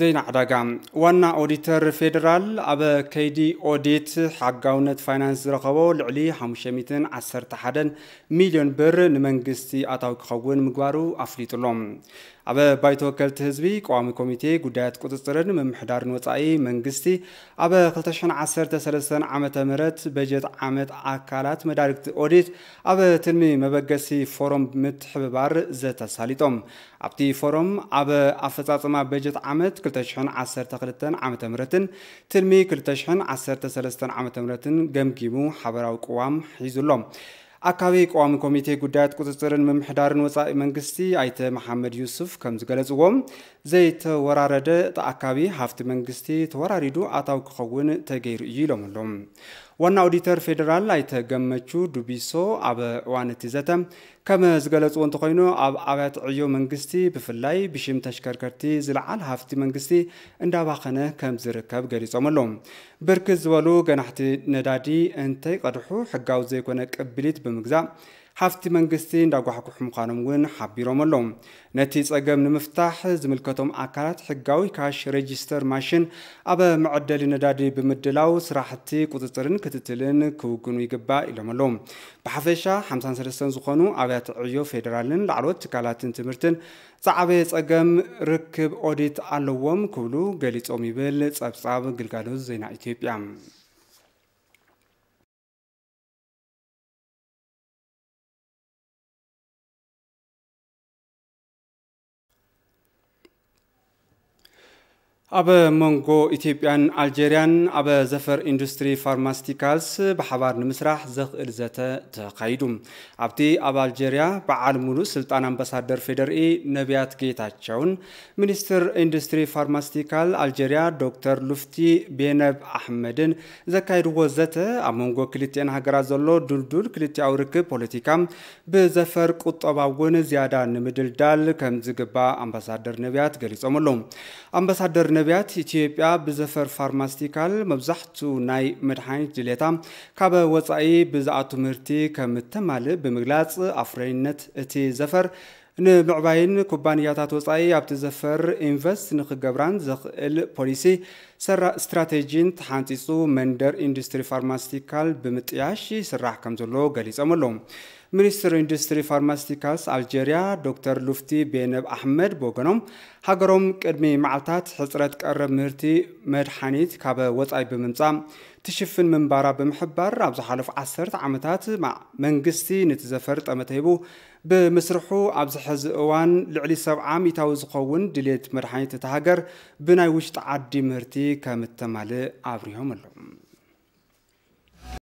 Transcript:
ዜና ዕዳጋ። ዋና ኦዲተር ፌዴራል ኣብ ከይዲ ኦዲት ሕጋውነት ፋይናንስ ዝረኸቦ ልዕሊ ሓሙሽተ ሚእትን ዓሰርተ ሓደን ሚልዮን ብር ንመንግስቲ ኣታዊ ክኸውን ምግባሩ ኣፍሊጡ ኣሎ። ኣብ ባይቶ ወከልቲ ህዝቢ ቀዋሚ ኮሚቴ ጉዳያት ቁፅፅርን ምምሕዳርን ወፃኢ መንግስቲ ኣብ ክልተ ሽሕን ዓሰርተ ሰለስተን ዓመተ ምህረት በጀት ዓመት ኣካላት መዳርግቲ ኦዲት ኣብ ትልሚ መበገሲ ፎረም ምትሕብባር ዘተሳሊጦም። ኣብቲ ፎረም ኣብ ኣፈፃፅማ በጀት ዓመት ክልተ ሽሕን ዓሰርተ ክልተን ዓመተ ምህረትን ትልሚ ክልተ ሽሕን ዓሰርተ ሰለስተን ዓመተ ምህረትን ገምጊሙ ሓበራዊ ቅዋም ሒዙ ኣሎ። ኣካቢ ቀዋሚ ኮሚቴ ጉዳያት ቁፅፅርን ምምሕዳርን ወፃኢ መንግስቲ ኣይተ መሓመድ ዩሱፍ ከም ዝገለፅዎ፣ ዘይተወራረደ ተኣካቢ ሃፍቲ መንግስቲ ተወራሪዱ ኣታዊ ክኸውን ተገይሩ እዩ ኢሎም ኣለዉ። ዋና ኦዲተር ፌዴራል ኣይተ ገመቹ ዱቢሶ ኣብ እዋን እቲ ዘተ ከም ዝገለፅዎ እንተኾይኑ፣ ኣብ ኣብያተ ዕዮ መንግስቲ ብፍላይ ብሽም ተሽከርከርቲ ዝለዓል ሃፍቲ መንግስቲ እንዳባኸነ ከም ዝርከብ ገሊፆም ኣለዉ። ብርክት ዝበሉ ገናሕቲ ነዳዲ እንተይቀድሑ ሕጋዊ ዘይኮነ ቅብሊት ብምግዛእ ሃፍቲ መንግስቲ እንዳጓሕጉሑ ምዃኖም እውን ሓቢሮም ኣለዉ። ነቲ ጸገም ንምፍታሕ ዝምልከቶም ኣካላት ሕጋዊ ካሽ ሬጂስተር ማሽን ኣብ መዐደሊ ነዳዲ ብምድላው ስራሕቲ ቁፅፅርን ክትትልን ክውግኑ ይግባእ ኢሎም ኣለዉ። ብሓፈሻ ሓምሳን ሰለስተን ዝኾኑ ኣብያተ ዕዮ ፌዴራልን ላዕለዎት ትካላትን ትምህርትን ዝዓበየ ጸገም ርክብ ኦዲት ኣለዎም ክብሉ ገሊጾም ይብል ጸብጻብ ግልጋሎት ዜና ኢትዮጵያ። ኣብ መንጎ ኢትዮጵያን ኣልጀርያን ኣብ ዘፈር ኢንዱስትሪ ፋርማስቲካልስ ብሓባር ንምስራሕ ዘኽእል ዘተ ተኻይዱ። ኣብቲ ኣብ ኣልጀርያ በዓል ሙሉእ ስልጣን ኣምባሳደር ፌዴሪኢ ነቢያት ጌታቸውን ሚኒስትር ኢንዱስትሪ ፋርማስቲካል ኣልጀርያ ዶክተር ሉፍቲ ቤነብ ኣሕመድን ዘካየድዎ ዘተ ኣብ መንጎ ክልቲአን ሃገራት ዘሎ ድልዱል ክልቲኣዊ ርክብ ፖለቲካ ብዘፈር ቁጠባ እውን ዝያዳ ንምድልዳል ከም ዝግባእ ኣምባሳደር ነቢያት ገሊጾም ኣለዉ። ኣምባሳደር ነቢያት ኢትዮጵያ ብዘፈር ፋርማስቲካል መብዛሕቱ ናይ መድሓኒት ድሌታ ካብ ወጻኢ ብዝኣቱ ምህርቲ ከም እተማልእ ብምግላጽ ኣፍረይነት እቲ ዘፈር ንምዕባይን ኩባንያታት ወጻኢ ኣብቲ ዘፈር ኢንቨስት ንክገብራን ዘኽእል ፖሊሲ ሰራ-፣ ስትራቴጂን ተሓንጺጹ መንደር ኢንዱስትሪ ፋርማስቲካል ብምጥያሽ ይስራሕ ከም ዘሎ ገሊጾም ኣለዉ። ሚኒስትር ኢንዱስትሪ ፋርማስቲካልስ ኣልጀርያ ዶክተር ሉፍቲ ቤነብ ኣሕመድ ብወገኖም ሃገሮም ቅድሚ መዓልታት ሕጽረት ቀረብ ምህርቲ መድሓኒት ካብ ወጻኢ ብምምጻእ ትሽፍን ምንባራ ብምሕባር ኣብ ዝሓለፉ ዓሰርተ ዓመታት ማ-፣ መንግስቲ ነቲ ዘፈር ጠመተ ሂቡ ብምስርሑ ኣብዚ ሕዚ እዋን ልዕሊ ሰብዓ ሚእታዊ ዝኸውን ድሌት መድሓኒት እታ ሃገር ብናይ ውሽጢ ዓዲ ምህርቲ ከም እተማልእ ኣብሪሆም ኣለዉ።